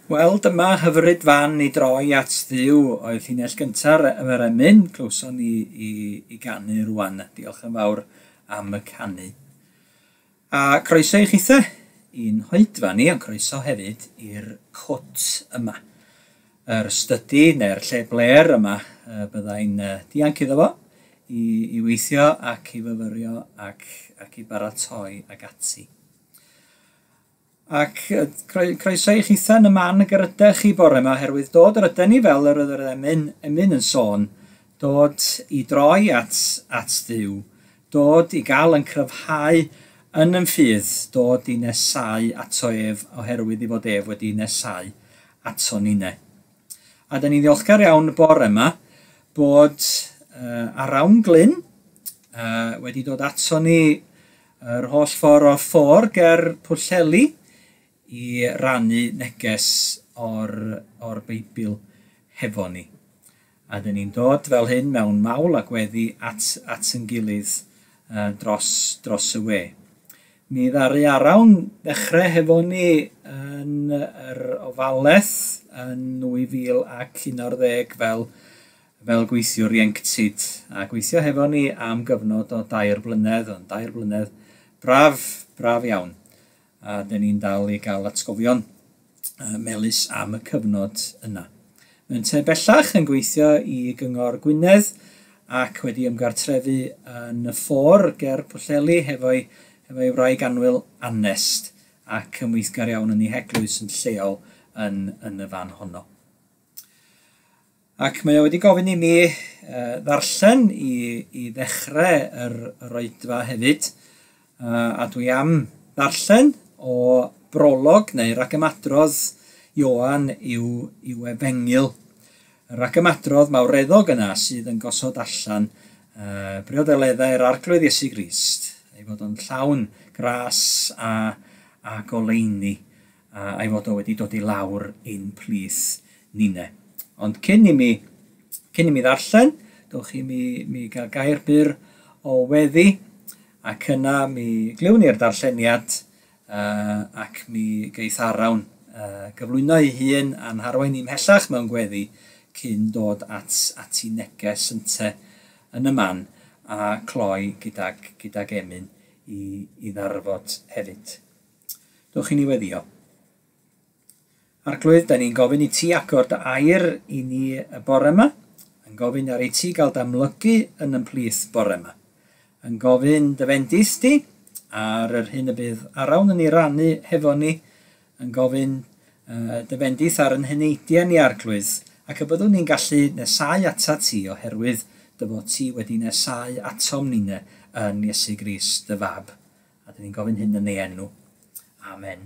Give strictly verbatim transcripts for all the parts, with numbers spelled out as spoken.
Wel, dyma hyfryd fan i droi at Dduw oedd llinell gyntaf yr emyn, clywson ni i, i ganu rwan. Diolch yn fawr am y canu. A croeso i chithe i'n hoedfa ni, ond croeso hefyd i'r cwt yma. Yr stydi neu'r lle bler yma byddai'n dianc iddo fo i, i weithio ac i fyfyrio ac, ac i baratoi ac ati. Ac croeso i chitha yn y man y gyrydech chi bore yma, oherwydd dod yr yden ni fel yr oedd yr emyn, emyn yn sôn, dod i droi at, at Dduw, dod i gael yn cryfhau yn yn ffydd, dod i nesau ato ef, oherwydd i fod ef wedi nesau ato ninne. A da ni'n ddiolchgar iawn y bore yma bod uh, Arawn Glyn uh, wedi dod ato ni yr holl ffordd o ffôr ger Pwllheli i rannu neges o'r, o'r Beibl hefo ni. A dyn ni'n dod fel hyn mewn mawl a gweddi at, at yn gilydd uh, dros, dros y we. Mi ddaru Arawn ddechrau hefo ni yn yr ofalaeth yn nwy fil ac un ar ddeg fel, fel gweithiwr ieuenctid, a gweithio hefo ni am gyfnod o dair blynedd, ond dair blynedd braf, braf iawn. A dyn ni'n dal i gael atgofion melys am y cyfnod yna. Mae'n te bellach yn gweithio i Gyngor Gwynedd ac wedi ymgartrefu yn y ffôr ger Pwllheli hefo'i hefo'i wraig annwyl Anest, ac yn weithgar iawn yn ei heglwys yn lleol yn, yn y fan honno. Ac mae o wedi gofyn i mi uh, ddarllen i, i ddechrau yr, yr oedfa hefyd, uh, a dwi am ddarllen o brolog neu ragymadrodd Ioan i'w, i'w efengyl. Y ragymadrodd mawreddog yna sydd yn gosod allan uh, briodeleddau'r Arglwydd Iesu Grist, ei fod o'n llawn gras a, a goleuni, a, a'i fod o wedi dod i lawr ein plith ninne. Ond cyn i mi, cyn i mi ddarllen, dowch i mi, mi gael gair byr o weddi, ac yna mi glywn ni'r darlleniad uh, ac mi geith Arawn uh, gyflwyno ei hun a'n harwain ni ymhellach mewn gweddi cyn dod at, at ei neges ynte yn y man a cloi gydag, gydag emyn i, i ddarfod hefyd. Dowch i ni weddio. Arglwydd, da ni'n gofyn i ti agor dy air i ni y bore yma, yn gofyn ar i ti gael dy amlygu yn ymplith bore yma, yn gofyn dy fendith di ar yr hyn y bydd Arawn yn ei rannu hefo ni, yn gofyn uh, dy fendith ar yn heneidiau ni, Arglwydd, ac y byddwn ni'n gallu nesau atat ti oherwydd dy fod ti wedi nesau atom ninne yn Iesu Grist dy fab. A dyn ni'n gofyn hyn yn ei enw. Amen.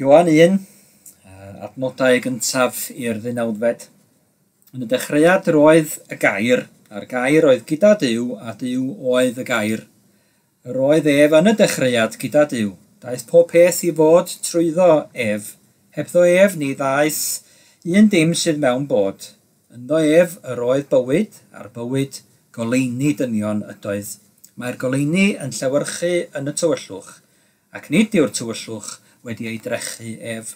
Ioan un, adnodau gyntaf i'r ddeunawfed. Yn y dechreuad roedd y gair, a'r gair oedd gyda Duw, a Duw oedd y gair. Yr oedd ef yn y dechreuad gyda Duw. Daeth pob peth i fod trwyddo ef. Hebddo ef ni ddaeth un dim sydd mewn bod. Ynddo ef yr oedd bywyd, a'r bywyd goleuni dynion ydoedd. Mae'r goleuni yn llewyrchu yn y tywyllwch, ac nid yw'r tywyllwch wedi ei drechu ef.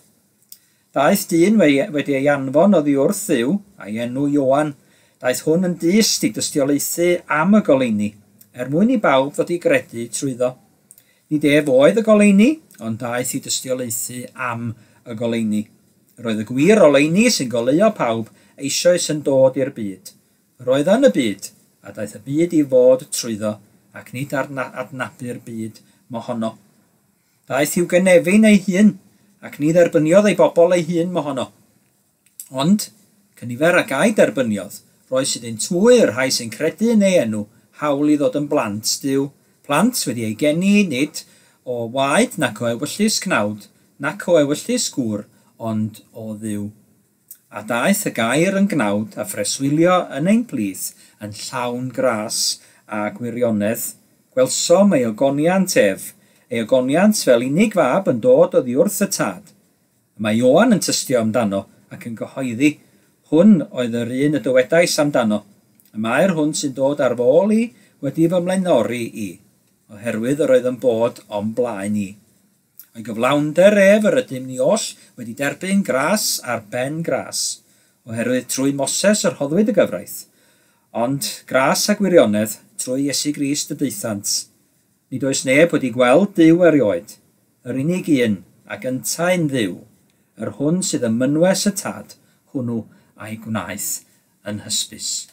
Daeth dyn wedi ei anfon oddi wrth Dduw, a'i enw Ioan. Daeth hwn yn dyst i dystiolaethu am y goleuni, er mwyn i bawb ddod i gredu trwyddo. Nid ef oedd y goleuni, ond daeth i dystiolaethu am y goleuni. Roedd y gwir oleuni sy'n goleuo pawb eisoes yn dod i'r byd. Roedd yn y byd, a daeth y byd i fod trwyddo, ac nid adnabu'r byd mohono. Daeth i'w gynefin ei hun, ac ni dderbyniodd ei bobl ei hun mohono. Ond, cynifer ag a'i derbyniodd, roes iddynt hwy yr rhai sy'n credu yn ei enw, hawl i ddod yn blant Duw, plant wedi ei geni nid o waed nac o ewyllys cnawd, nac o ewyllys gŵr, ond o Dduw. A daeth y gair yn gnawd a phreswylio yn ein plith yn llawn gras a gwirionedd. Gwelsom ei ogoniant ef, ei ogoniant fel unig fab yn dod oddi wrth y tad. Mae Ioan yn tystio amdano ac yn gyhoeddi, hwn oedd yr un y dywedais amdano. Y mae'r hwn sy'n dod ar fy ôl i wedi fy mlaenori i, oherwydd yr oedd yn bod o'm blaen i. O'i gyflawnder ef yr ydym ni oll wedi derbyn gras ar ben gras, oherwydd trwy Moses yr rhoddwyd y gyfraith, ond gras a gwirionedd trwy Iesu Grist y daethant. Nid oes neb wedi gweld Duw erioed, yr unig un ac yntau'n Dduw, yr hwn sydd ym mynwes y Tad, hwnnw a'i gwnaeth yn hysbys.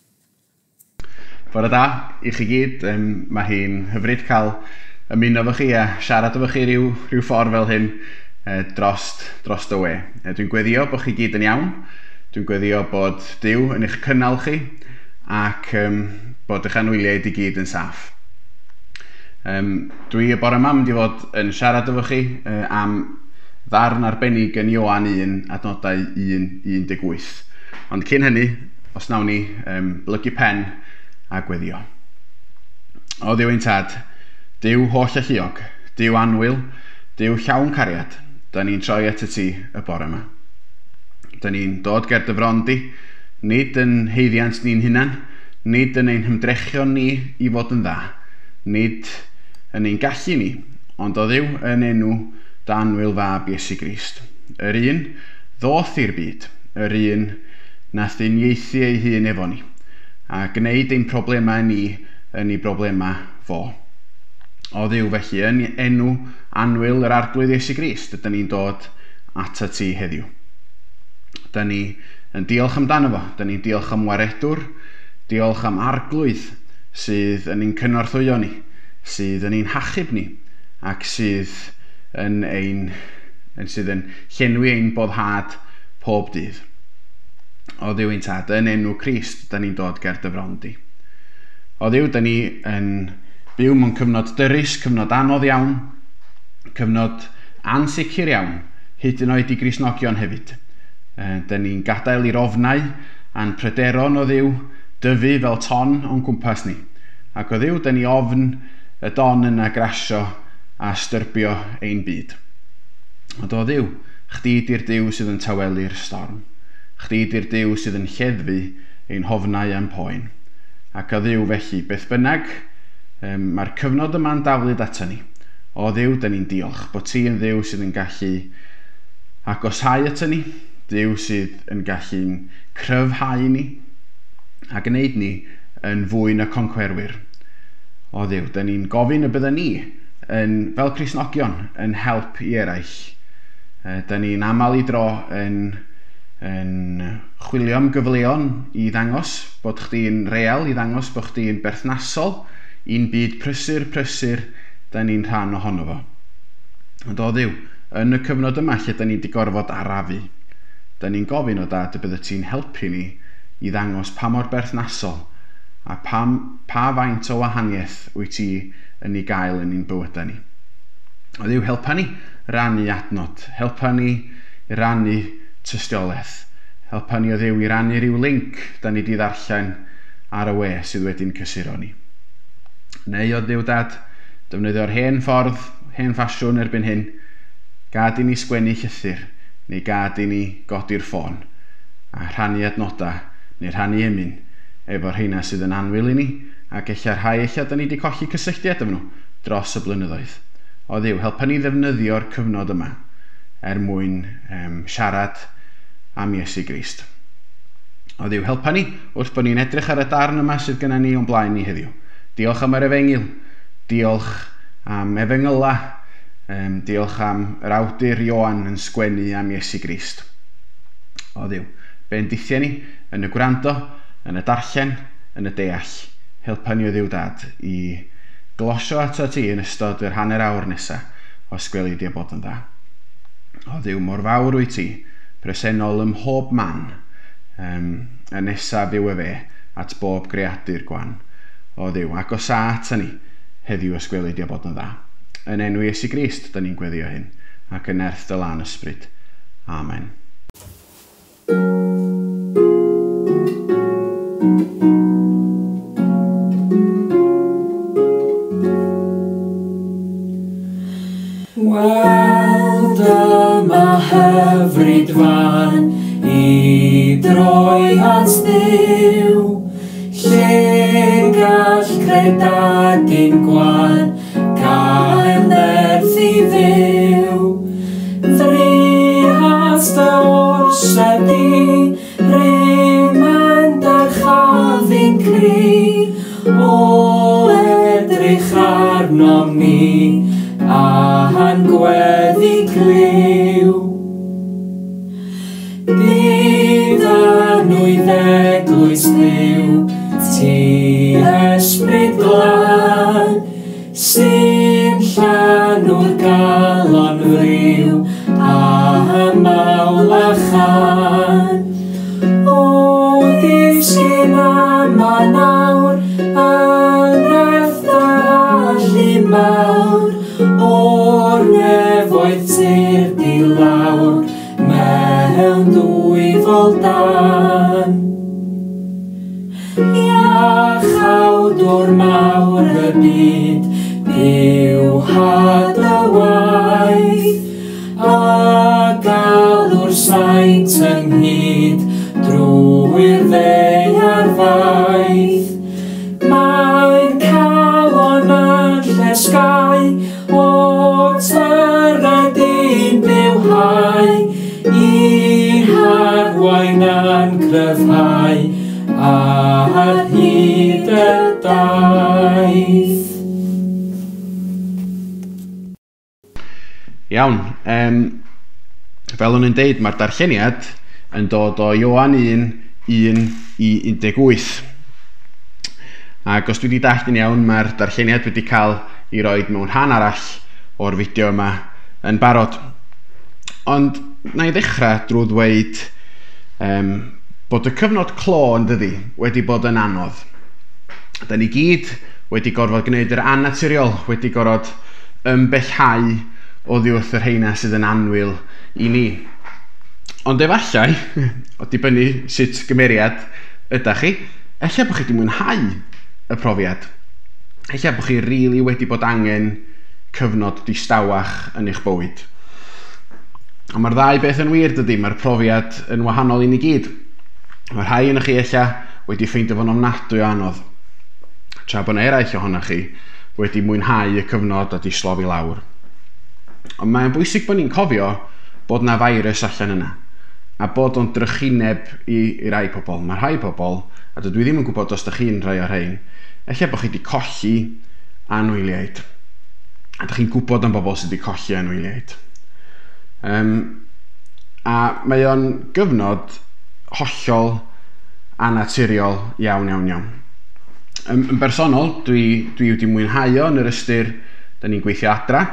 Bore da i chi gyd. Um, mae hi'n hyfryd cael ymuno efo chi a siarad efo chi ryw, ryw ffordd fel hyn eh, drost, drost y we. Eh, dwi'n gweddio bod chi gyd yn iawn. Dwi'n gweddio bod Duw yn eich cynnal chi ac um, bod eich anwyliaid i gyd yn saff. Um, dwi y bore yma mynd i fod yn siarad efo chi uh, am ddarn arbennig yn Ioan un, adnodau un un deg wyth. Ond cyn hynny, os nawn ni um, blygu pen a gweddio. O Dduw ein Tad, Duw holl alluog, Duw annwyl, Duw llawn cariad, da ni'n troi at y ti y bore yma. Da ni'n dod ger dy fron di, nid yn haeddiant ni'n hunan, nid yn ein hymdrechion ni i fod yn dda, nid yn ein gallu ni, ond o Dduw yn enw dy annwyl fab Iesu Grist. Yr un ddoth i'r byd, yr un nath uniaethu ei hun efo ni, a gwneud ein problemau ni yn ei broblemau fo. O Dduw felly, yn enw annwyl yr Arglwydd Iesu Grist, ydyn ni'n dod atat ti heddiw. Dyn ni yn diolch amdano fo, dyn ni'n diolch am waredwr, diolch am Arglwydd sydd yn ein cynorthwyo ni, sydd yn ein hachub ni, ac sydd yn, ein, yn, sydd yn llenwi ein boddhad pob dydd. O Dduw ein Tad, yn enw Crist, dyn ni'n dod ger dy fron di. O Dduw, dyn ni yn byw mewn cyfnod dyrys, cyfnod anodd iawn, cyfnod ansicr iawn, hyd yn oed i Gristnogion hefyd. Dyn ni'n gadael i'r ofnau a'n pryderon o Dduw dyfu fel ton o'n cwmpas ni. Ac o Dduw, dyn ni ofn y don yna grasio a styrbio ein byd. Ond o Dduw, chdi di'r Duw sydd yn tawelu'r storm. Chdi di'r Duw sydd yn lleddfu ein hofnau a'n poen. Ac o Dduw felly, beth bynnag, um, mae'r cyfnod yma'n daflud ato ni. O Dduw, dyn ni'n diolch bod ti yn Dduw sydd yn gallu agosáu ato ni, Duw sydd yn gallu'n cryfhau ni a gwneud ni yn fwy na concwerwyr. O Dduw, dyn ni'n gofyn y bydden ni yn, fel Cristnogion, yn help i eraill. Dyn ni'n aml i dro yn, yn chwilio am gyfleon i ddangos bod chdi'n real, i ddangos bod chdi'n berthnasol i'n byd prysur, prysur, dyn ni'n rhan ohono fo. Ond o Dduw, yn y cyfnod yma lle dyn ni wedi gorfod arafu, dyn ni'n gofyn o Dad y bydde ti'n helpu ni i ddangos pa mor berthnasol a pam, pa faint o wahaniaeth wyt ti yn ei gael yn ein bywydau ni. O Dduw, helpa ni rannu adnod, helpa ni rannu tystiolaeth, helpa ni o Dduw i rannu rhyw link da ni wedi ddarllen ar y we sydd wedi'n cysuro ni. Neu o Dduw Dad, defnyddio'r hen ffordd, hen ffasiwn erbyn hyn, gad i ni sgwennu llythyr, neu gad i ni godi'r ffôn, a rhannu adnodau, neu rhannu emyn, efo'r rheina sydd yn annwyl i ni, ac ella rhai ella da ni wedi colli cysylltiad efo nhw dros y blynyddoedd. O Dduw, helpa ni ddefnyddio'r cyfnod yma er mwyn um, siarad am Iesu Grist. O Dduw, helpa ni wrth bod ni'n edrych ar y darn yma sydd gennym ni o'n blaen ni heddiw. Diolch am yr efengyl, diolch am efengyla, um, diolch am yr awdur Ioan yn sgwennu am Iesu Grist. O Dduw, bendithia ni yn y gwrando, yn y darllen, yn y deall. Helpa ni o Dduw Dad i glosio ato ti yn ystod yr hanner awr nesaf os gweli di o bod yn dda. O Dduw, mor fawr wyt ti, presennol ym mhob man, um, y nesaf yw e fe at bob greadur gwan. O Dduw, agosa ata ni heddiw os gweli di o bod yn dda. Yn enw Iesu Grist, da ni'n gweddio hyn, ac yn nerth dy lân ysbryd. Amen. Wel, dyma hyfryd fan i droi at Dduw, lle gall credadun gwan gael nerth i fyw. orsedd di, rym yn dyrchafu'n cri, o edrych arnom ni, a'n gweddi clyw. Diddanwydd eglwys Dduw, ti ysbryd glân, sy'n llanw'r galon friw, a mawl a chan. O ddisgyn yma nawr, yn nerth dy allu mawr, o'r nefoedd tyrd i lawr, mewn dwyfol dan. Iachawdwr mawr y byd, byw had y waith, a galw'r saint ynghyd drwy'r ddaear faith. Mae'r calon yn llesgau, o tyred i'n bywhau, i'n harwain a'n cryfhau, ar hyd y daith. Iawn, um, fel o'n i'n deud, mae'r darlleniad yn dod o Ioan un, un i un deg wyth. Ac os dwi wedi dallt yn iawn, mae'r darlleniad wedi cael ei roed mewn rhan arall o'r fideo yma yn barod. Ond na i ddechrau drwy ddweud um, bod y cyfnod clo yn dydi wedi bod yn anodd. Da ni gyd wedi gorfod gwneud yr annaturiol, wedi gorfod ymbellhau oddi wrth yr rheina sydd yn annwyl i ni. Ond efallai, o dibynnu sut gymeriad ydach chi, ella bod chi wedi mwynhau y profiad. Ella bod chi rili wedi bod angen cyfnod distawach yn eich bywyd. Ond mae'r ddau beth yn wir dydy, mae'r profiad yn wahanol i ni gyd. Mae rhai yn chi ella wedi ffeindio fo'n ofnadwy o anodd, tra bod eraill ohonoch chi wedi mwynhau y cyfnod a di slofi lawr. Ond mae'n bwysig bod ni'n cofio bod na virus allan yna, a bod o'n drychineb i, i rai pobl. Mae rhai pobl, a dydw i ddim yn gwybod os ydych chi'n rhai o'r rhain, ella bod chi wedi colli anwyliaid. A ydych chi'n gwybod am bobl sydd wedi colli anwyliaid. Um, a mae o'n gyfnod hollol annaturiol iawn, iawn, iawn. Yn, yn bersonol, dwi, dwi wedi mwynhau o yn yr ystyr, da ni'n gweithio adra.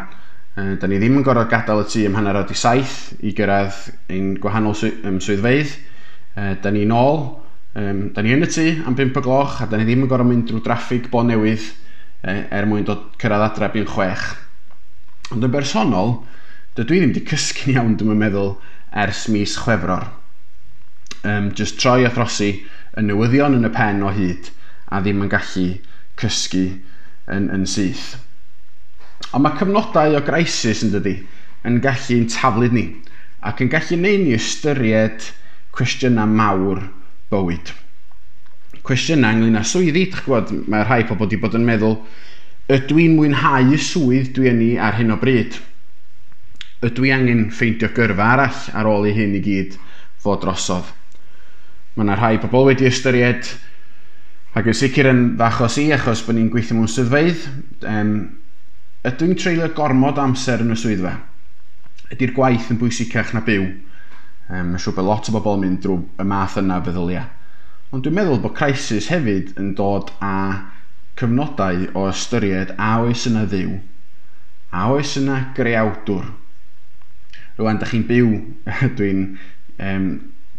Da ni ddim yn gorfod gadael y tŷ am hanner awr i saith i gyrraedd ein gwahanol swyddfeydd. Da ni nôl, da ni yn y tŷ am bump o gloch, a da ni ddim yn gorfod mynd drwy draffig bo newydd er mwyn dod cyrraedd adra bu'n chwech. Ond yn bersonol, dydw i ddim wedi cysgu'n iawn, dwi'n meddwl, ers mis Chwefror. Um, just troi a throsi y newyddion yn y pen o hyd, a ddim yn gallu cysgu yn, yn syth. Ond mae cyfnodau o crisis yn dydi, yn gallu'n taflud ni, ac yn gallu neud ni ystyried cwestiynau mawr bywyd. Cwestiynau ynglyn â swyddi, dych gwybod, mae rhai pobl wedi bod yn meddwl, ydw i'n mwynhau y swydd dwi yn ei ar hyn o bryd? Ydw i angen ffeindio gyrfa arall ar ôl i hyn i gyd fod drosodd? Mae yna rhai pobl wedi ystyried, ac yn sicr yn f'achos i, achos bod ni'n gweithio mewn swyddfeydd, um, ydw i'n treulio gormod amser yn y swyddfa? Ydy'r gwaith yn bwysicach na byw? Um, mae'n siŵr bod lot o bobl yn mynd drwy y math yna feddyliau. Ond dwi'n meddwl bod crisis hefyd yn dod â cyfnodau o ystyried a oes yna Dduw, a oes yna greawdwr. Rwan, da chi'n byw, dwi'n, um,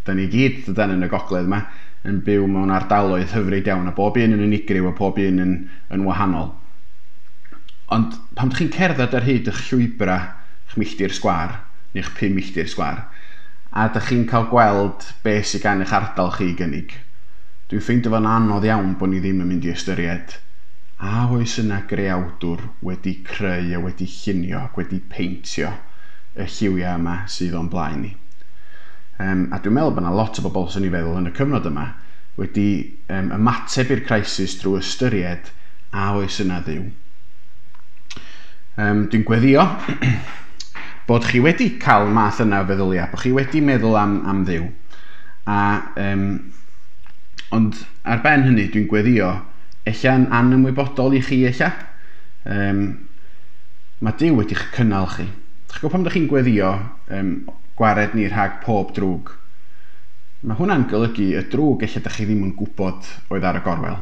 da ni gyd dydan yn y gogledd yma, yn byw mewn ardaloedd hyfryd iawn, a bob un yn unigryw a pob un yn, yn wahanol. Ond pan ydych chi'n cerdded ar hyd eich llwybrau, eich milltir sgwâr, neu eich pum milltir sgwâr, a ydych chi'n cael gweld beth sydd gan eich ardal chi i gynnig, dwi'n ffeindio fo'n anodd iawn bod ni ddim yn mynd i ystyried a oes yna greawdwr wedi creu a wedi llunio ac wedi peintio y lliwiau yma sydd o'n blaen ni. Um, a dwi'n meddwl bod yna lot o bobl sy'n ei feddwl yn y cyfnod yma wedi um, ymateb i'r crisis drwy ystyried a oes yna Dduw. Um, dwi'n gweddio bod chi wedi cael math yna o feddyliau, bod chi wedi meddwl am, am Dduw. A, um, ond ar ben hynny, dwi'n gweddio, ella'n anymwybodol i chi ella. Um, mae Duw wedi'ch cynnal chi. Dych chi'n gwybod pam ydych chi'n gweddio um, gwared ni rhag pob drwg? Mae hwnna'n golygu y drwg ella ydych chi ddim yn gwybod oedd ar y gorwel.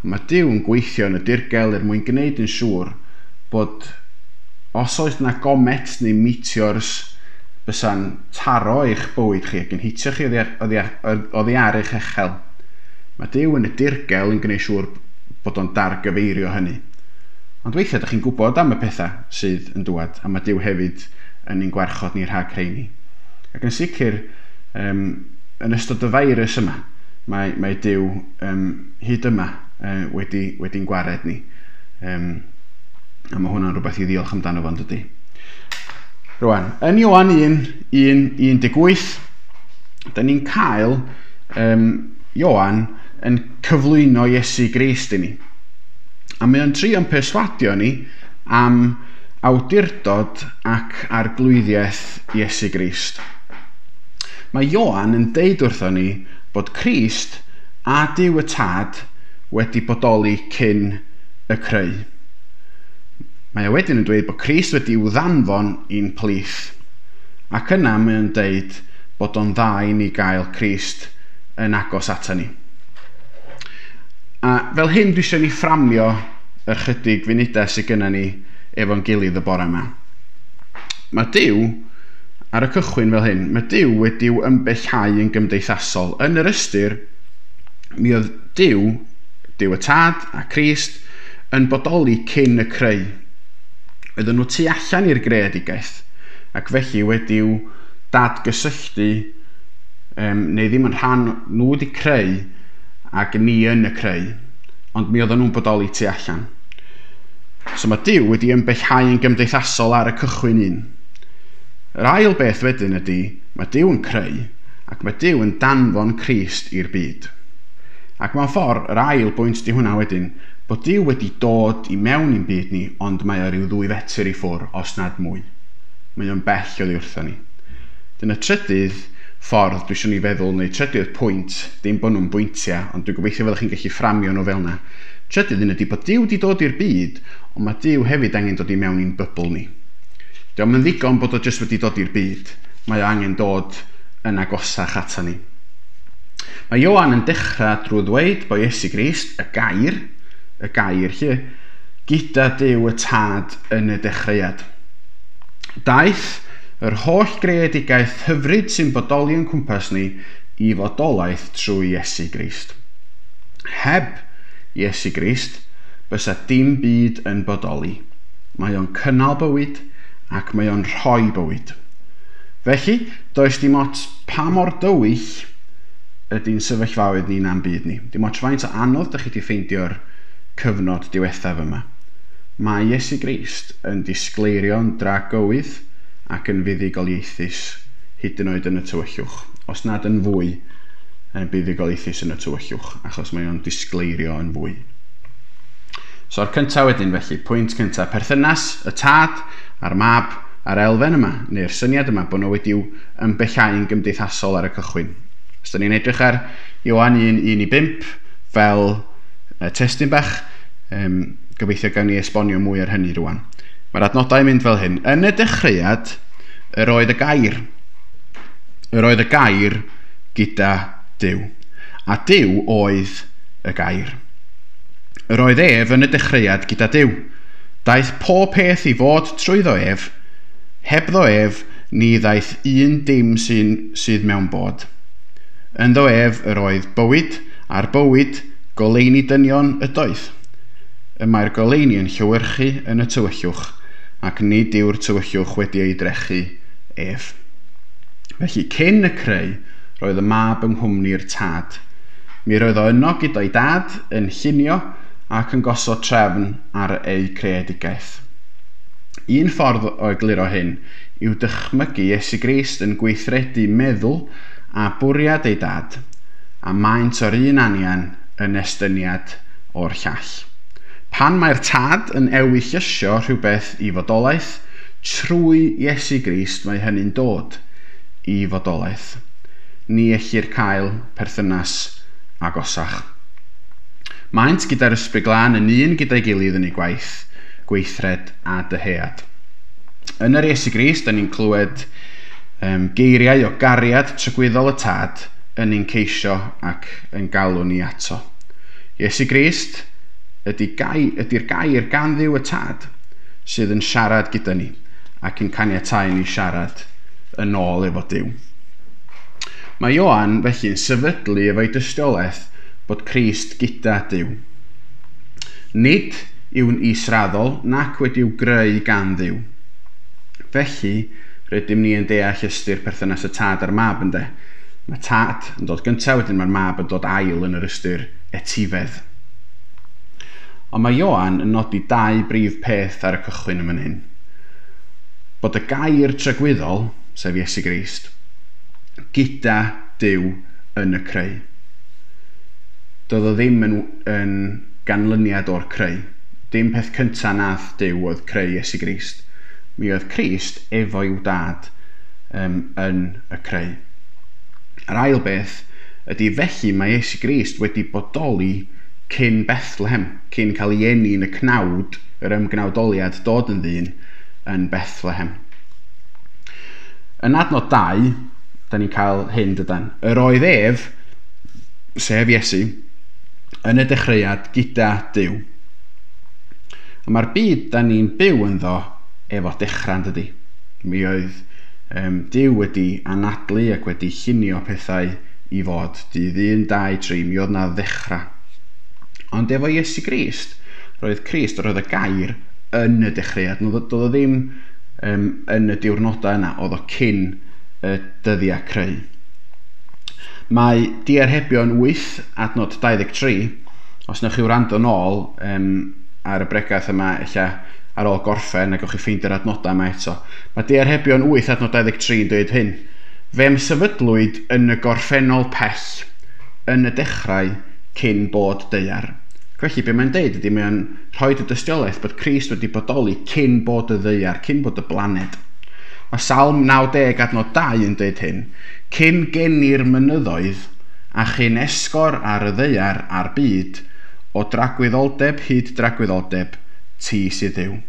Mae Duw yn gweithio yn y dirgel er mwyn gwneud yn siŵr bod os oes yna gomet neu meteors bysa'n taro eich bywyd chi ac yn hitio chi oddi ar, oddi ar, oddi ar eich echel, mae Duw yn y dirgel yn gwneud siŵr bod o'n dargyfeirio hynny. Ond weithiau ydych chi'n gwybod am y pethau sydd yn dŵad, a mae Duw hefyd yn ein gwarchod ni rhag rheini. Ac yn sicr, um, yn ystod y feirws yma, mae, mae Duw um, hyd yma uh, wedi, wedi'n gwared ni. Um, a mae hwnna'n rhywbeth i ddiolch amdano fo'n dydy. Rwan, yn Ioan un, un, un deg wyth, da ni'n cael um, Ioan yn cyflwyno Iesu Grist i ni. A mae o'n trio'n perswadio ni am awdurdod ac arglwyddiaeth Iesu Grist. Mae Ioan yn deud wrtho ni bod Crist a Duw y Tad wedi bodoli cyn y creu. Mae o wedyn yn dweud bod Crist wedi i'w ddanfon i'n plith. Ac yna mae o'n deud bod o'n dda i ni gael Crist yn agos ata ni. A fel hyn dwi eisiau ni fframio yr chydig funudau sydd gynna ni efo'n gilydd y bore yma. Mae Duw, ar y cychwyn fel hyn, mae Duw wedi'w ymbellhau yn gymdeithasol. Yn yr ystyr, mi oedd Duw, Duw y Tad a Crist, yn bodoli cyn y creu. Oedden nhw tu allan i'r greadigaeth, ac felly wedi'w dadgysylltu, um, neu ddim yn rhan nhw wedi creu ac ni yn y creu, ond mi oedden nhw'n bodoli tu allan. So mae Duw wedi ymbellhau yn gymdeithasol ar y cychwyn un. Yr ail beth wedyn ydy, mae Duw yn creu, ac mae Duw yn danfon Crist i'r byd. Ac mewn ffordd, yr ail bwynt di hwnna wedyn, bod Duw wedi dod i mewn i'n byd ni, ond mae o ryw ddwy fetr i ffwrdd, os nad mwy. Mae o'n bell oddi wrtho ni. Dyna trydydd ffordd dwi eisiau ni feddwl, neu trydydd pwynt, dim bod nhw'n bwyntiau, ond dwi'n gobeithio fyddwch chi'n gallu fframio nhw fel yna. Trydydd un ydy bod Duw wedi dod i'r byd, ond mae Duw hefyd angen dod i mewn i'n bybl ni. Dio'm yn ddigon bod o jyst wedi dod i'r byd, mae o angen dod yn agosach ata ni. Mae Ioan yn dechrau drwy ddweud bod Iesu Grist, y gair, y gair lle, gyda Duw y Tad yn y dechreuad. Daeth yr holl greadigaeth hyfryd sy'n bodoli yn cwmpas ni i fodolaeth trwy Iesu Grist. Heb Iesu Grist, bysa dim byd yn bodoli. Mae o'n cynnal bywyd ac mae o'n rhoi bywyd. Felly, does dim ots pa mor dywyll ydy'n sefyllfaoedd ni na'n byd ni. Dim ots faint o anodd dych chi wedi ffeindio'r cyfnod diwethaf yma. Mae Iesu Grist yn disgleirio'n dragywydd ac yn fuddugoliaethus hyd yn oed yn y tywyllwch. Os nad yn fwy yn buddugoliaethus yn y tywyllwch, achos mae o'n disgleirio yn fwy. So'r cyntaf wedyn felly, pwynt cyntaf, perthynas y Tad a'r Mab a'r elfen yma, neu'r syniad yma, bod nhw wedi'w ymbellhau yn gymdeithasol ar y cychwyn. Os da ni'n edrych ar Ioan un, un i bump fel testun bach, um, gobeithio gawn ni esbonio mwy ar hynny rwan. Mae'r adnodau yn mynd fel hyn. Yn y dechreuad, yr oedd y gair. Yr oedd y gair gyda Duw. A Duw oedd y gair. Yr oedd ef yn y dechreuad gyda Duw. Daeth pob peth i fod trwyddo ef. Hebddo ef, ni ddaeth un dim sy'n, sydd mewn bod. Ynddo ef yr oedd bywyd, a'r bywyd goleuni dynion ydoedd. Y mae'r goleuni yn llewyrchu yn y tywyllwch, ac nid yw'r tywyllwch wedi ei drechu ef. Felly, cyn y creu, roedd y Mab yng nghwmni'r Tad. Mi roedd o yno gyda'i dad yn llunio ac yn gosod trefn ar eu creadigaeth. Un ffordd o egluro hyn yw dychmygu Iesu Grist yn gweithredu meddwl a bwriad ei dad, a maent o'r un anian yn estyniad o'r llall. Pan mae'r Tad yn ewyllysio rhywbeth i fodolaeth Trwy Iesu Grist mae hynny'n dod i fodolaeth. Ni ellir cael perthynas agosach. Maent gyda'r Ysbryd Glân yn un gyda'i gilydd yn ei gwaith, gweithred a dyhead. Yn yr Iesu Grist, da ni'n clywed um, geiriau o gariad tragwyddol y Tad yn ein ceisio ac yn galw ni ato. Iesu Grist ydy gai, ydy'r gair gan Dduw y Tad sydd yn siarad gyda ni ac yn caniatáu ni siarad yn ôl efo Duw. Mae Ioan felly'n sefydlu efo'i dystiolaeth bod Crist gyda Duw. Nid yw'n israddol nac wedi'w greu gan Dduw. Felly, rydym ni yn deall ystyr perthynas y Tad a'r Mab, ynde. Mae Tad yn dod gyntaf, wedyn mae'r Mab yn dod ail yn yr ystyr etifedd. Ond mae Ioan yn nodi dau brif peth ar y cychwyn yn fan hyn. Bod y gair tragwyddol, sef Iesu Grist, gyda Duw yn y creu. Doedd o ddim yn, yn ganlyniad o'r creu. Dim peth cyntaf nath Duw oedd creu Iesu Grist. Mi oedd Crist efo i'w dad um, yn y creu. Yr ail beth ydy felly mae Iesu Grist wedi bodoli cyn Bethlehem, cyn cael ei eni yn y cnawd, yr ymgnawdoliad dod yn ddyn yn Bethlehem. Yn adnod dau, da ni'n cael hyn dydan. Yr oedd ef, sef Iesu, yn y dechreuad gyda Duw. A mae'r byd da ni'n byw ynddo efo dechrau, dydy. Mi oedd um, Duw wedi anadlu ac wedi llunio pethau i fod. Dydd un, dau, tri, mi oedd na ddechrau. Ond efo Iesu Grist, roedd Crist, roedd y gair yn y dechreuad. Doedd o ddim um, yn y diwrnodau yna, oedd o cyn y dyddiau creu. Mae Diarhebion wyth, adnod dau ddeg tri, os newch chi wrando nôl um, ar y bregaeth yma, ella ar ôl gorffen, a gewch chi ffeindio'r adnodau yma eto. Mae Diarhebion wyth, adnod dau ddeg tri yn dweud hyn. Fe'm sefydlwyd yn y gorffennol pell, yn y dechrau cyn bod daear. Felly, be mae'n deud ydy mae'n rhoi y dystiolaeth bod Crist wedi bodoli cyn bod y ddaear, cyn bod y blaned. Mae Salm naw deg adnod dau yn dweud hyn. Cyn geni'r mynyddoedd a chyn esgor ar y ddaear a'r byd, o dragwyddoldeb hyd dragwyddoldeb, ti sydd Dduw.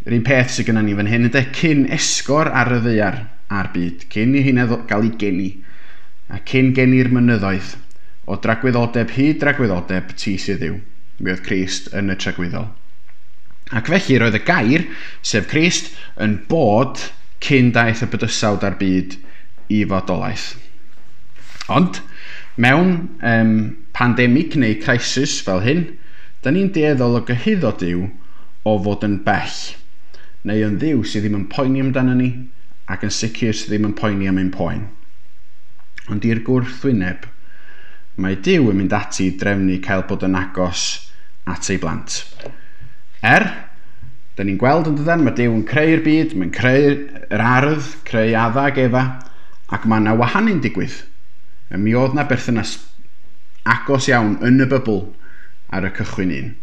Yr un peth sydd gennym ni fan hyn ydy cyn esgor ar y ddaear a'r byd, cyn i hynna gael ei geni, a cyn geni'r mynyddoedd, o dragwyddoldeb hyd dragwyddoldeb, ti sydd Dduw. Mi oedd Crist yn y tragwyddol. Ac felly roedd y gair, sef Crist, yn bod cyn daeth y bydysawd a'r byd i fodolaeth. Ond, mewn um, pandemig neu crisis fel hyn, da ni'n dueddol o gyhuddo Duw o fod yn bell, neu yn Dduw sydd ddim yn poeni amdano ni, ac yn sicr sydd ddim yn poeni am ein poen. Ond i'r gwrthwyneb, mae Duw yn mynd ati i drefnu cael bod yn agos at ei blant. Er, da ni'n gweld yn dydan, mae Duw yn creu'r byd, mae'n creu'r ardd, creu Adda ac Efa, ac mae yna wahanu'n digwydd. Mi oedd na berthynas agos iawn yn y bybl ar y cychwyn un.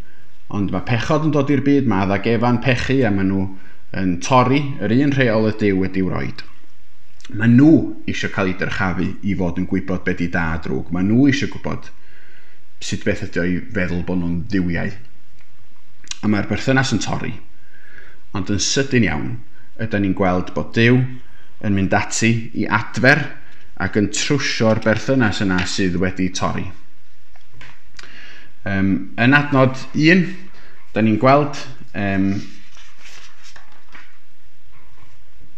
Ond mae pechod yn dod i'r byd, mae Adda ac Efa'n pechu a maen nhw yn torri yr un rheol y Duw wedi'w roid. Mae nhw eisiau cael eu dyrchafu i fod yn gwybod be di da a drwg. Mae nhw eisiau gwybod sut beth ydy o i feddwl bod nhw'n dduwiau. A mae'r berthynas yn torri. Ond yn sydyn iawn, ydy ni'n gweld bod Duw yn mynd ati i adfer ac yn trwsio'r berthynas yna sydd wedi torri. Um, yn adnod un, da ni'n gweld um,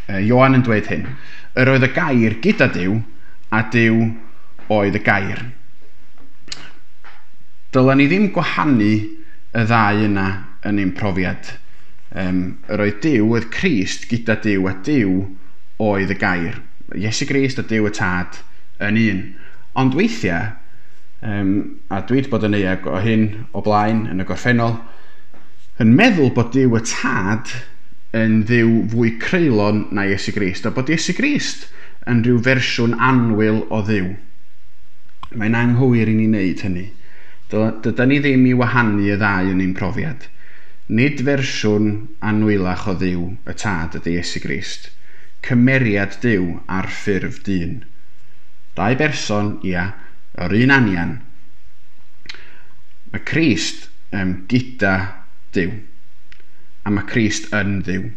Ioan yn dweud hyn. Yr oedd y gair gyda Duw, a Duw oedd y gair. Dylen ni ddim gwahanu y ddau yna yn ein profiad. Um, yr oedd Duw oedd Crist gyda Duw, a Duw oedd y gair. Iesu Grist a Duw y Tad yn un. Ond weithiau, um, a dwi wedi bod yn euog o hyn o blaen yn y gorffennol, yn meddwl bod Duw y Tad yn Dduw fwy creulon na Iesu Grist, a bod Iesu Grist yn rhyw fersiwn annwyl o Dduw. Mae'n anghywir i ni wneud hynny. Dydan ni ddim i wahanu y ddau yn ein profiad. Nid fersiwn anwylach o Dduw y Tad ydy Iesu Grist, cymeriad Duw ar ffurf dyn. Dau berson, ia, yr un anian. Mae Crist um, gyda Duw, a mae Crist yn Dduw.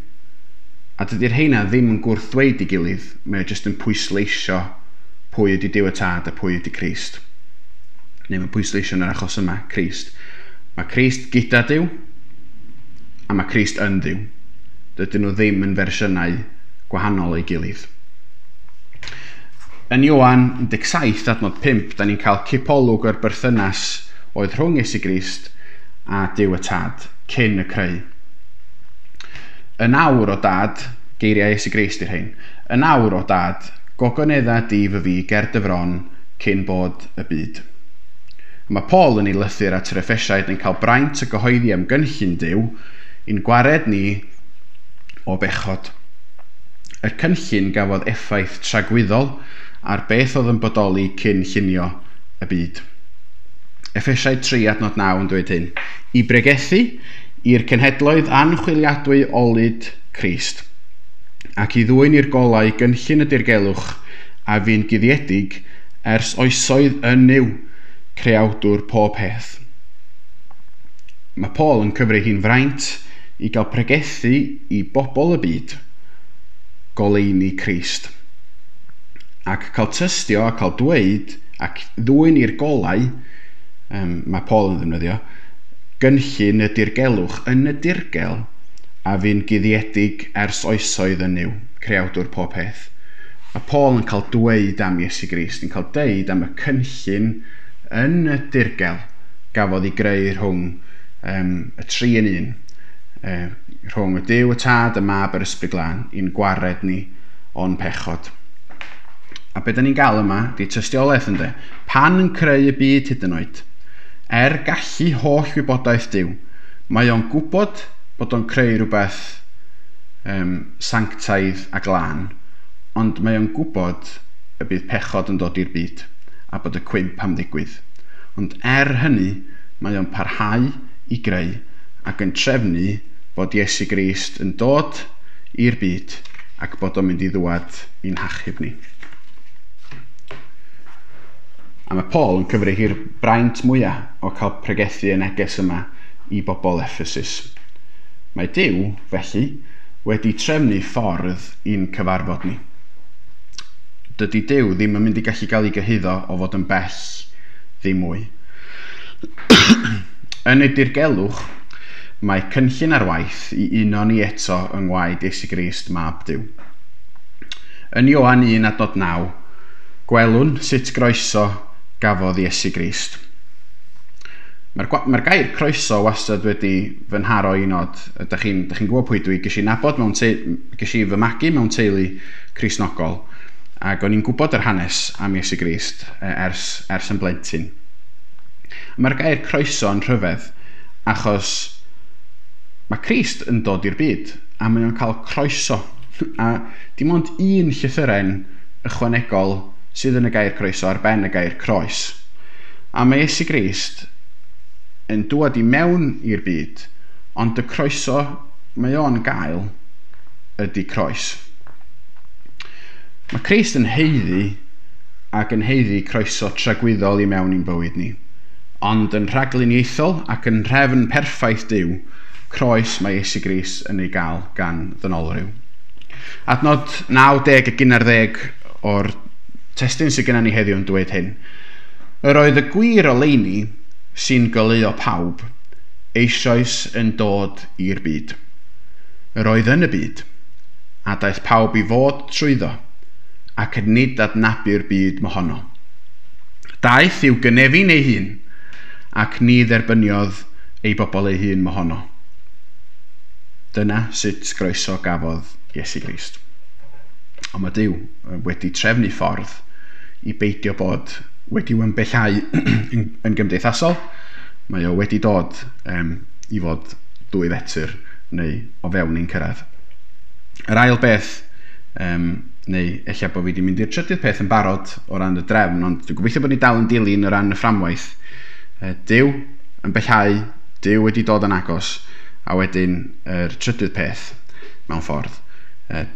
A dydy'r heina ddim yn gwrthddweud i gilydd, mae o jyst yn pwysleisio pwy ydy Duw y Tad a pwy ydy Crist. Neu mae'n pwysleisio yn yr achos yma, Crist. Mae Crist gyda Duw, a mae Crist yn Dduw. Dydyn nhw ddim yn fersiynau gwahanol ei gilydd. Yn Ioan un deg saith adnod pump, da ni'n cael cipolwg o'r berthynas oedd rhwng Iesu Grist a Duw y Tad cyn y creu. Yn awr o Dad, geiriau Iesu Grist i'r hyn, yn awr o Dad, gogonedda di fy fi ger dy fron cyn bod y byd. Mae Paul yn ei lythyr at yr Effesiaid yn cael braint y gyhoeddi am gynllun Duw i'n gwared ni o bechod. Y cynllun gafodd effaith tragwyddol ar beth oedd yn bodoli cyn llunio y byd. Effesiaid tri adnod naw yn dweud hyn. I bregethu i'r cenhedloedd anchwiliadwy olud Crist, ac i ddwyn i'r golau gynllun y dirgelwch a fu'n guddiedig ers oesoedd yn Nuw, creawdwr pob peth. Mae Paul yn cyfri hi'n fraint i gael pregethu i bobl y byd goleuni Crist, ac cael tystio a cael dweud ac ddwyn i'r golau, um, mae Paul yn ddefnyddio, gynllun y dirgelwch yn y dirgel a fu'n guddiedig ers oesoedd yn Nuw, creawdwr pob peth. Mae Paul yn cael dweud am Iesu Grist, yn cael deud am y cynllun yn y dirgel gafodd ei greu rhwng um, y tri yn un, uh, rhwng y Duw, y Tad, y Mab, yr Ysbryd Glân, i'n gwared ni o'n pechod. A be da ni'n gael yma, di tystiolaeth ynde, pan yn creu y byd hyd yn oed, er gallu holl wybodaeth Duw, mae o'n gwybod bod o'n creu rhywbeth um, sanctaidd a glân, ond mae o'n gwybod y bydd pechod yn dod i'r byd a bod y cwymp am ddigwydd. Ond er hynny, mae o'n parhau i greu ac yn trefnu bod Iesu Grist yn dod i'r byd ac bod o'n mynd i ddwad i'n hachub ni. A mae Paul yn cyfri hi'r braint mwyaf o cael pregethu y neges yma i bobl Ephesus. Mae Duw, felly, wedi trefnu ffordd i'n cyfarfod ni. Dydy Duw ddim yn mynd i gallu gael ei gyhuddo o fod yn bell ddim mwy. Yn y dirgelwch, mae cynllun ar waith i uno ni eto yng ngwaed Iesu Grist, Mab Duw. Yn Ioan un adnod naw, gwelwn sut groeso gafodd Iesu Grist. Mae'r, mae'r gair croeso wastad wedi fy nharo i nod. Ydych chi'n chi gwybod pwy dwi, ges i nabod mewn te, ges i fy magu mewn teulu Cristnogol, ac o'n i'n gwybod yr hanes am Iesu Grist ers, ers yn blentyn. Mae'r gair croeso yn rhyfedd, achos mae Crist yn dod i'r byd, a mae o'n cael croeso. A dim ond un llythyren ychwanegol sydd yn y gair croeso ar ben y gair croes. A mae Iesu Grist yn dŵad i mewn i'r byd, ond y croeso mae o'n gael ydy croes. Mae Crist yn haeddu ac yn haeddu croeso tragwyddol i mewn i'n bywyd ni, ond yn rhagluniaethol ac yn nhrefn perffaith Duw, croes mae Iesu Grist yn ei gael gan ddynolryw. Adnod naw deg ac un ar ddeg o'r testun sydd gennym ni heddiw yn dweud hyn. Yr oedd y gwir oleuni sy'n goleuo pawb eisoes yn dod i'r byd. Yr oedd yn y byd, a daeth pawb i fod trwyddo, ac nid adnabu'r byd mohono. Daeth i'w gynefin ei hun, ac ni dderbyniodd ei bobl ei hun mohono. Dyna sut groeso gafodd Iesu Grist. Ond mae Duw wedi trefnu ffordd i beidio bod wedi ymbellhau yn, yn gymdeithasol. Mae o wedi dod um, i fod dwy fetr neu o fewn ein cyrraedd. Yr ail beth, um, neu ella bod fi wedi mynd i'r trydydd peth yn barod o ran y drefn, ond dwi'n gobeithio bod ni dal yn dilyn o ran y fframwaith. Duw yn bellhau, Duw wedi dod yn agos, A wedyn yr trydydd peth mewn ffordd,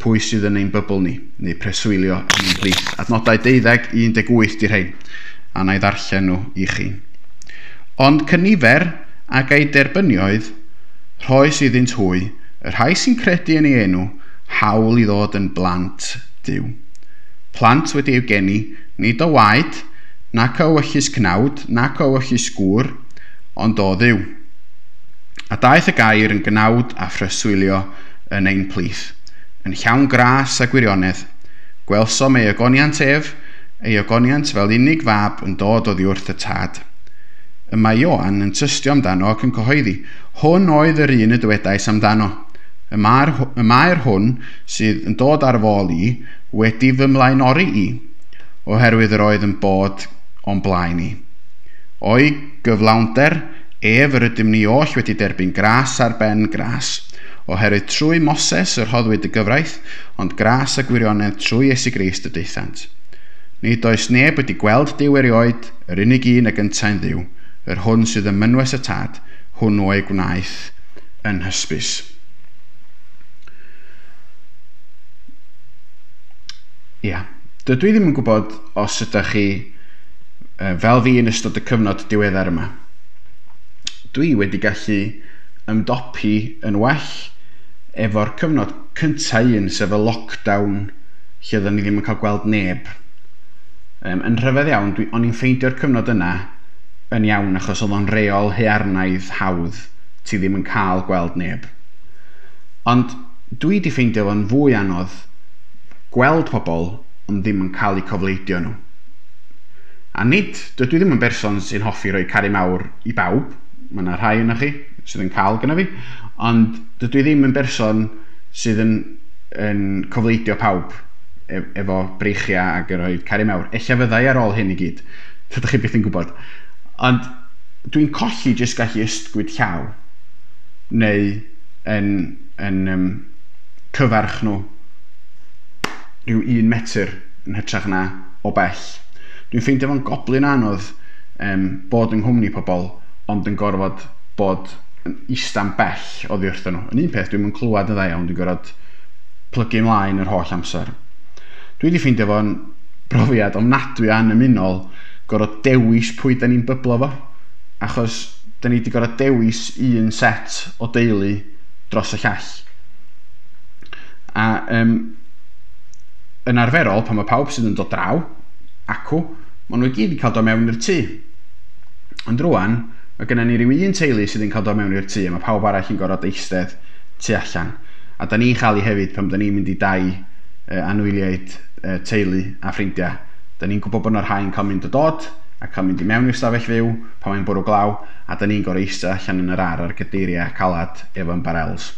pwy sydd yn ein bybl ni, neu preswylio yn ein plith. Adnodau deuddeg i un deg wyth di'r rhain, a na i ddarllen nhw i chi. Ond cynifer ag ei derbynioedd, rhoes iddynt hwy, y rhai sy'n credu yn ei enw, hawl i ddod yn blant Duw. Plant wedi eu geni, nid o waed, nac o ewyllys cnawd, nac o ewyllys gŵr, ond o Dduw. A daeth y gair yn gnawd a phreswylio yn ein plith, yn llawn gras a gwirionedd. Gwelsom ei ogoniant ef, ei ogoniant fel unig fab yn dod oddi wrth y tad. Y mae Ioan yn tystio amdano ac yn cyhoeddi, hwn oedd yr un y dywedais amdano. Y mae'r, y mae'r hwn sydd yn dod ar fy ôl i wedi fy mlaenori i, oherwydd yr oedd yn bod o'n blaen i. O'i gyflawnder ef yr ydym ni oll wedi derbyn gras ar ben gras, oherwydd trwy Moses yr rhoddwyd y gyfraith, ond gras a gwirionedd trwy Iesu Grist y daethant. Nid oes neb wedi gweld Duw erioed, yr unig un ag yntau'n Dduw, yr hwn sydd ym mynwes y tad, hwnnw ei gwnaeth yn hysbys. Ia, dydw i ddim yn gwybod os ydych chi fel fi yn ystod y cyfnod diweddar yma. Dwi wedi gallu ymdopi yn well efo'r cyfnod cyntaf un, sef y lockdown, lle oedden ni ddim yn cael gweld neb. Um, yn rhyfedd iawn, dwi, o'n i'n ffeindio'r cyfnod yna yn iawn achos oedd o'n reol haearnaidd hawdd, ti ddim yn cael gweld neb. Ond dwi wedi ffeindio fo'n fwy anodd gweld pobl ond ddim yn cael eu cofleidio nhw. A nid, dydw i ddim yn berson sy'n hoffi rhoi caru mawr i bawb, mae yna rhai yna chi sydd yn cael gyda fi, ond dydw i ddim yn berson sydd yn, yn cofleidio pawb efo breichiau ac yn rhoi caru mawr. Ella fyddai ar ôl hyn i gyd, dydych chi byth yn gwybod. Ond dwi'n colli jyst gallu ysgwyd llaw neu yn, yn um, cyfarch nhw rhyw un metr yn hytrach na o bell. Dwi'n ffeindio fo'n goblyn anodd um, bod yng nghwmni pobl, ond yn gorfod bod yn ista'n bell oddi wrthyn nhw. Yn un peth, dwi'n yn clywed yn dda iawn, dwi'n gorfod plygu ymlaen yr holl amser. Dwi wedi ffeindio fo'n brofiad ofnadwy annymunol gorfod dewis pwy da ni'n byblo fo, achos da ni wedi gorfod dewis un set o deulu dros y llall. A um, yn arferol, pan mae pawb sydd yn dod draw, acw, maen nhw i gyd yn cael dod mewn i'r tŷ. Ond rwan, mae gennym ni ryw un teulu sydd yn cael dod mewn i'r tŷ, a mae pawb arall yn gorfod eistedd tu allan. A da ni'n chael ei hefyd pan da ni'n mynd i dai uh, anwyliaid uh, teulu a ffrindiau. Da ni'n gwybod bod yna rhai yn cael mynd o dod a cael mynd i mewn i'r stafell fyw pan mae'n bwrw glaw, a da ni'n gorfod eistedd allan yn yr ar ar gadeiriau calad efo'n barels.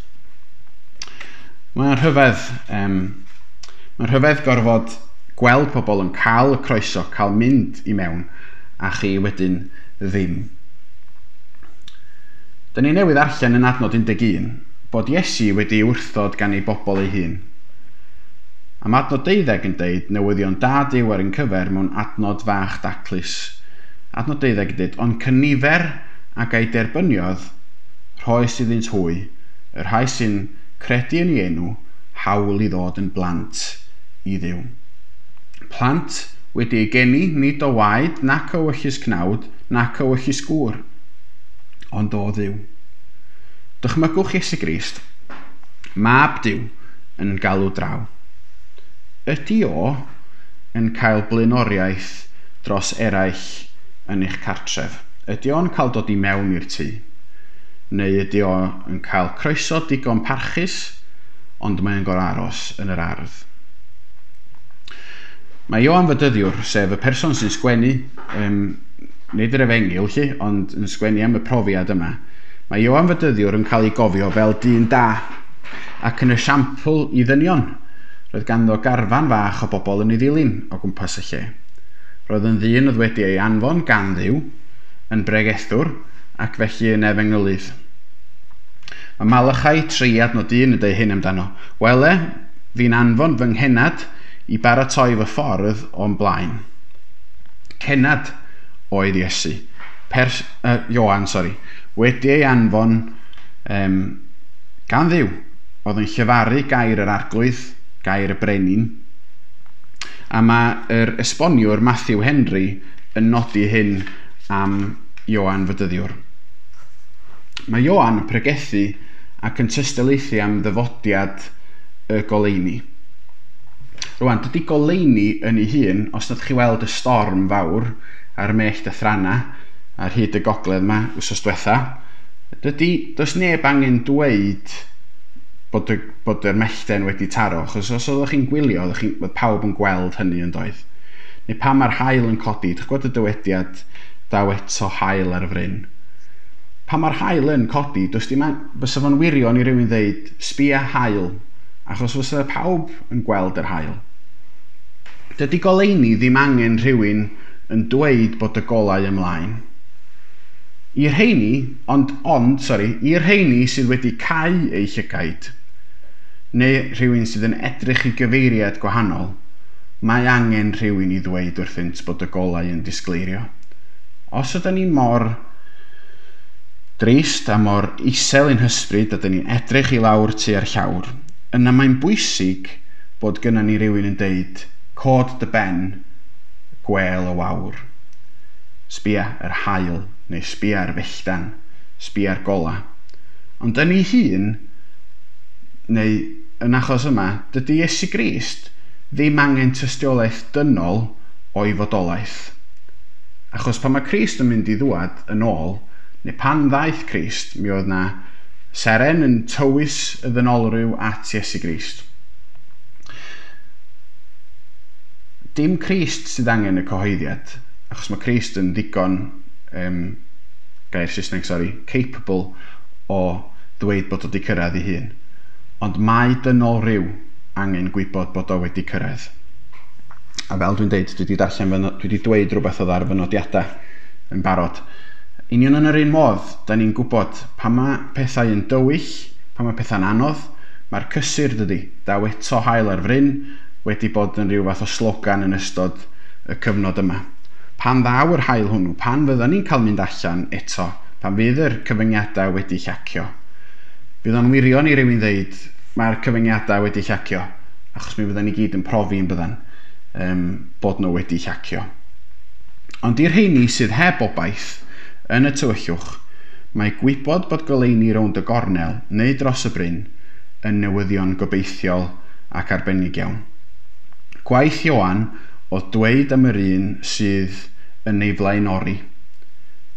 Mae'n rhyfedd, um, mae'n rhyfedd gorfod gweld pobl yn cael y croeso, cael mynd i mewn, a chi wedyn ddim. Da ni newydd arllen yn adnod un deg un bod Iesu wedi wrthod gan ei bobl ei hun. A mae adnod deuddeg yn deud newyddion da Duw ar ein cyfer mewn adnod fach daclus. Adnod deuddeg yn deud, ond cynifer ag ei derbyniodd, rhoes iddynt hwy, y rhai sy'n credu yn ei enw, hawl i ddod yn blant i Dduw. Plant wedi eu geni nid o waed, nac o ewyllys cnawd, nac o ewyllys gŵr, ond o Dduw. Dychmygwch Iesu Grist, mab Duw, yn galw draw. Ydy o yn cael blaenoriaeth dros eraill yn eich cartref? Ydy o'n cael dod i mewn i'r tŷ? Neu ydy o yn cael croeso digon parchus, ond mae'n gorfod aros yn yr ardd? Mae Ioan Fedyddiwr, sef y person sy'n sgwennu, um, nid yr efengyl lly, ond yn sgwennu am y profiad yma, mae Ioan Fedyddiwr yn cael ei gofio fel dyn da ac yn esiampl i ddynion. Roedd ganddo garfan fach o bobl yn ei ddilyn o gwmpas y lle. Roedd yn ddyn oedd wedi ei anfon gan Dduw, yn bregethwr ac felly yn efengylydd. Mae Malachai tri adnod un yn deud hyn amdano. Wele, fi'n anfon fy nghenad i baratoi fy ffordd o'n blaen. Cenad oedd Iesu. Pers, uh, Ioan, sori, wedi ei anfon um, Gan Dduw, oedd yn llefaru gair yr arglwydd, gair y brenin, a mae'r esboniwr Matthew Henry yn nodi hyn am Ioan Fedyddiwr. Mae Ioan yn pregethu ac yn tystiolaethu am ddyfodiad y goleuni. Rwan, dydy goleuni yn ei hun, os nad chi weld y storm fawr a'r mellt a thrana ar hyd y gogledd yma wsos diwetha, dydy, does neb angen dweud bod, y, bod yr mellten wedi taro, achos os oeddech chi'n gwylio, oeddech chi, oedd pawb yn gweld hynny yn doedd. Neu pan mae'r haul yn codi, dych gwybod y dywediad daw eto haul ar y fryn. Pan mae'r haul yn codi, does dim, fysa fo'n wirion i rywun ddeud, sbia haul, achos fysa pawb yn gweld yr haul. Dydy goleuni ddim angen rhywun yn dweud bod y golau ymlaen. I'r rheini, ond, ond, sori, i'r rheini sydd wedi cau eu llygaid, neu rhywun sydd yn edrych i gyfeiriad gwahanol, mae angen rhywun i ddweud wrthynt bod y golau yn disgleirio. Os ydyn ni mor drist a mor isel ein hysbryd a dyn ni'n edrych i lawr tua'r llawr, yna mae'n bwysig bod gynnon ni rywun yn deud, cod dy ben, gwel y wawr. Sbia yr haul, neu sbia'r felltan, sbia'r gola. Ond yn ei hun, neu yn achos yma, dydy Iesu Grist ddim angen tystiolaeth dynol o'i fodolaeth. Achos pan mae Crist yn mynd i ddwad yn ôl, neu pan ddaeth Crist, mi oedd na seren yn tywys y ddynolryw at Iesu Grist. Dim Crist sydd angen y cyhoeddiad, achos mae Crist yn ddigon, um, gair Saesneg, sorry, capable o ddweud bod o wedi cyrraedd ei hun. Ond mae dynol rhyw angen gwybod bod o wedi cyrraedd. A fel dwi'n deud, dwi wedi darllen, fy, dwi wedi dweud rhywbeth oedd ar fy nodiadau yn barod. Union yn yr un modd, da ni'n gwybod pan mae pethau yn dywyll, pan mae pethau'n anodd, mae'r cysur dydy, daw eto haul ar fryn, wedi bod yn rhyw fath o slogan yn ystod y cyfnod yma. Pan ddaw yr haul hwnnw, pan fyddan ni'n cael mynd allan eto, pan fydd yr cyfyngiadau wedi llacio, fydd o'n wirion i rywun ddeud, mae'r cyfyngiadau wedi llacio, achos mi fyddan ni gyd yn profi yn byddan, um, bod nhw wedi llacio. Ond i'r rheini sydd heb obaith yn y tywyllwch, mae gwybod bod goleuni rownd y gornel neu dros y bryn yn newyddion gobeithiol ac arbennig iawn. Gwaith Ioan oedd dweud am yr un sydd yn ei flaenori,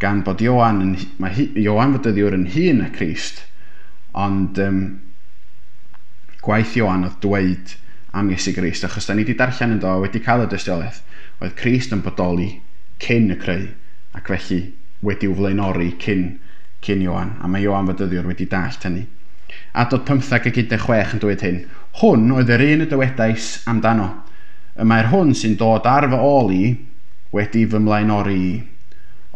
gan bod Ioan, yn, mae Ioan Fedyddiwr yn hŷn na Crist, ond um, gwaith Ioan oedd dweud am Iesu Grist, achos da ni wedi darllen ynddo, wedi cael y dystiolaeth, oedd Crist yn bodoli cyn y creu, ac felly wedi'w flaenori cyn, cyn Ioan, a mae Ioan Fedyddiwr wedi dallt hynny. Adnod pymtheg ac un deg chwech yn dweud hyn, hwn oedd yr un y dywedais amdano. Y mae'r hwn sy'n dod ar fy ôl i wedi fy mlaenori i,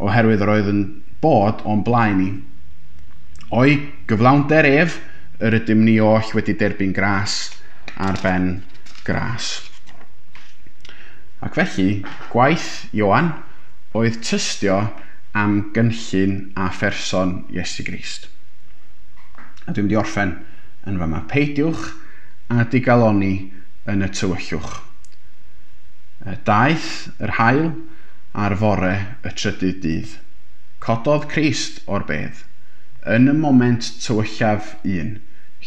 oherwydd yr oedd yn bod o'n blaen i. O'i gyflawnder ef, yr ydym ni oll wedi derbyn gras ar ben gras. Ac felly, gwaith Ioan oedd tystio am gynllun a pherson Iesu Grist. A dwi'n mynd i orffen yn fama. Peidiwch a digaloni yn y tywyllwch. Daeth yr haul ar fore y trydydd dydd. Cododd Crist o'r bedd, yn y moment tywyllaf un,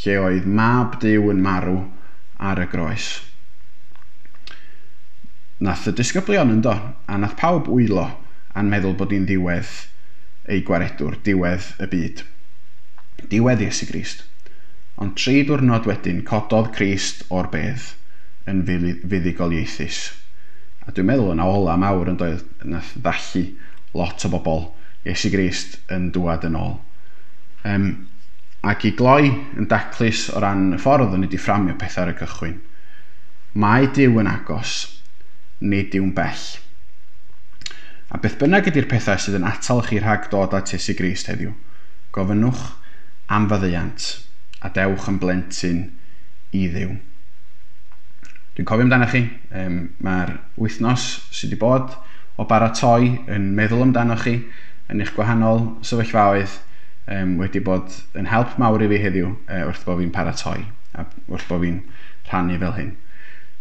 lle oedd mab Duw yn marw ar y groes. Nath y disgyblion yndo, a nath pawb wylo a'n meddwl bod hi'n ddiwedd ei gwaredwr, diwedd y byd. Diwedd Iesu Grist. Ond tri diwrnod wedyn, cododd Crist o'r bedd yn fuddugoliaethus. A dwi'n meddwl yna ola mawr yn doedd, nath ddallu lot o bobl Iesu Grist yn dŵad yn ôl. Um, ac i gloi yn daclus o ran y ffordd o'n i wedi fframio pethau ar y cychwyn. Mae Duw yn agos, nid yw'n bell. A beth bynnag ydy'r pethau sydd yn atal chi rhag dod at Iesu Grist heddiw, gofynnwch am faddeuant a dewch yn blentyn i Dduw. Dwi'n cofio amdano chi, um, mae'r wythnos sydd wedi bod o baratoi yn meddwl amdano chi yn eich gwahanol sefyllfaoedd um, wedi bod yn help mawr i fi heddiw uh, wrth bod fi'n paratoi a wrth bod fi'n rhannu fel hyn.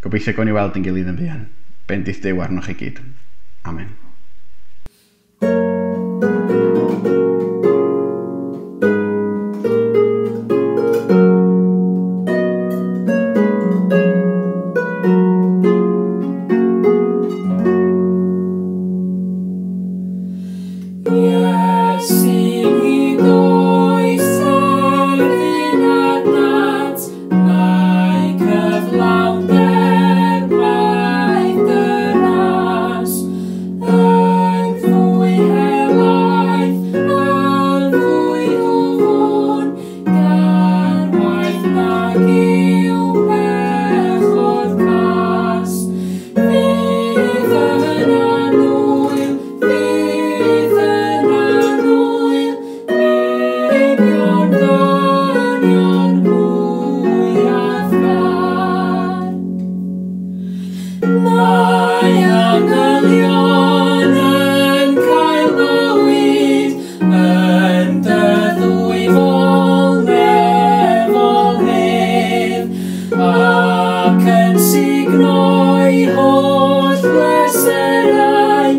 Gobeithio gawn ni weld yn gilydd yn fuan. Bendith Duw arnoch chi gyd. Amen. Ac yn signoi holl bleserau.